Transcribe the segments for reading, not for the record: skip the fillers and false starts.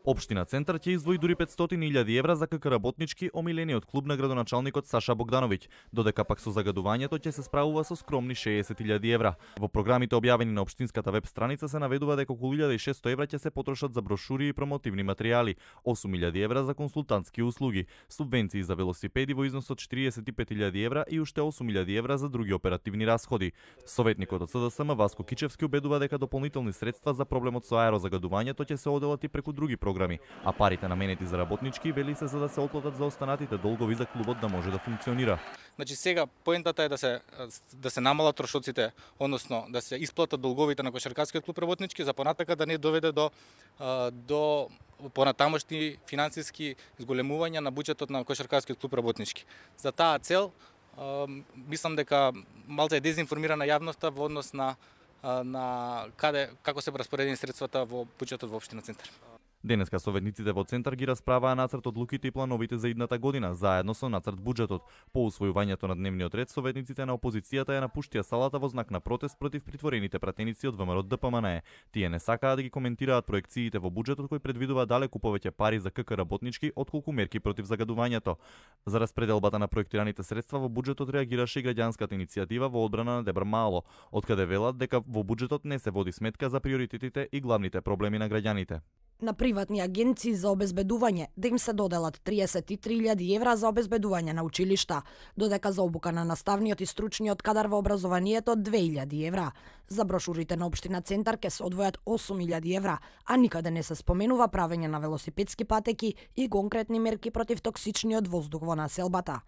Општина Центар ќе издвои дури 500.000 евра за КК работнички, омилениот клуб на градоначалникот Саша Богдановиќ, додека пак со загадувањето ќе се справува со скромни 60.000 евра. Во програмите објавени на општинската веб страница се наведува дека околу 1.600 евра ќе се потрошат за брошури и промотивни материјали, 8.000 евра за консултантски услуги, субвенции за велосипеди во износ од 45.000 евра и уште 8.000 евра за други оперативни расходи. Советникот од СДСМ Васко Кичевски убедува дека дополнителни средства за проблемот со аерозагадувањето ќе се оделат и преку други програми, а парите наменети за работнички вели се за да се отплатат за останатите долгови за клубот да може да функционира. Значи сега поентата е да се намалат трошоците, односно да се исплатат долговите на кошаркарскиот клуб работнички, за понатака да не доведе до понатамошни финансиски зголемувања на буџетот на кошаркарскиот клуб работнички. За таа цел мислам дека малце е дезинформирана јавноста во однос на како се распоредени средствата во буџетот во општина Центар. Денеска советниците во Центар ги расправаа нацрт одлуките и плановите за идната година, заедно со нацрт буџетот. По усвојувањето на дневниот ред, советниците на опозицијата ја напуштија салата во знак на протест против притворените пратеници од ВМРО ДПМНЕ. Тие не сакаат да ги коментираат проекциите во буџетот кој предвидува далеку повеќе пари за КК работнички отколку мерки против загадувањето. За распределбата на проектираните средства во буџетот реагираше и граѓанската иницијатива во одбрана на Дебар Мало, откаде велат дека во буџетот не се води сметка за приоритетите и главните проблеми на граѓаните. На приватни агенции за обезбедување да им се доделат 33.000 евра за обезбедување на училишта, додека за обука на наставниот и стручниот кадар во образованието 2.000 евра. За брошурите на општина Центар ќе се одвојат 8.000 евра, а никаде не се споменува правење на велосипедски патеки и конкретни мерки против токсичниот воздух во населбата.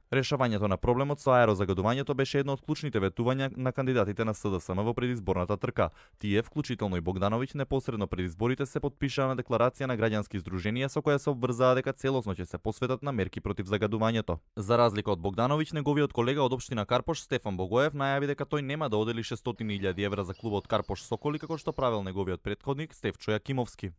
Решавањето на проблемот со аерозагадувањето беше едно од клучните ветувања на кандидатите на СДСМ во предизборната трка. Тие, вклучително и Богдановиќ, непосредно пред изборите се потпишаа на декларација на граѓански здруженија со која се обврзаа дека целосно ќе се посветат на мерки против загадувањето. За разлика од Богдановиќ, неговиот колега од општина Карпош Стефан Богоев најави дека тој нема да одели 600.000 евра за клубот Карпош Соколи како што правел неговиот претходник Стефчо Јакимовски.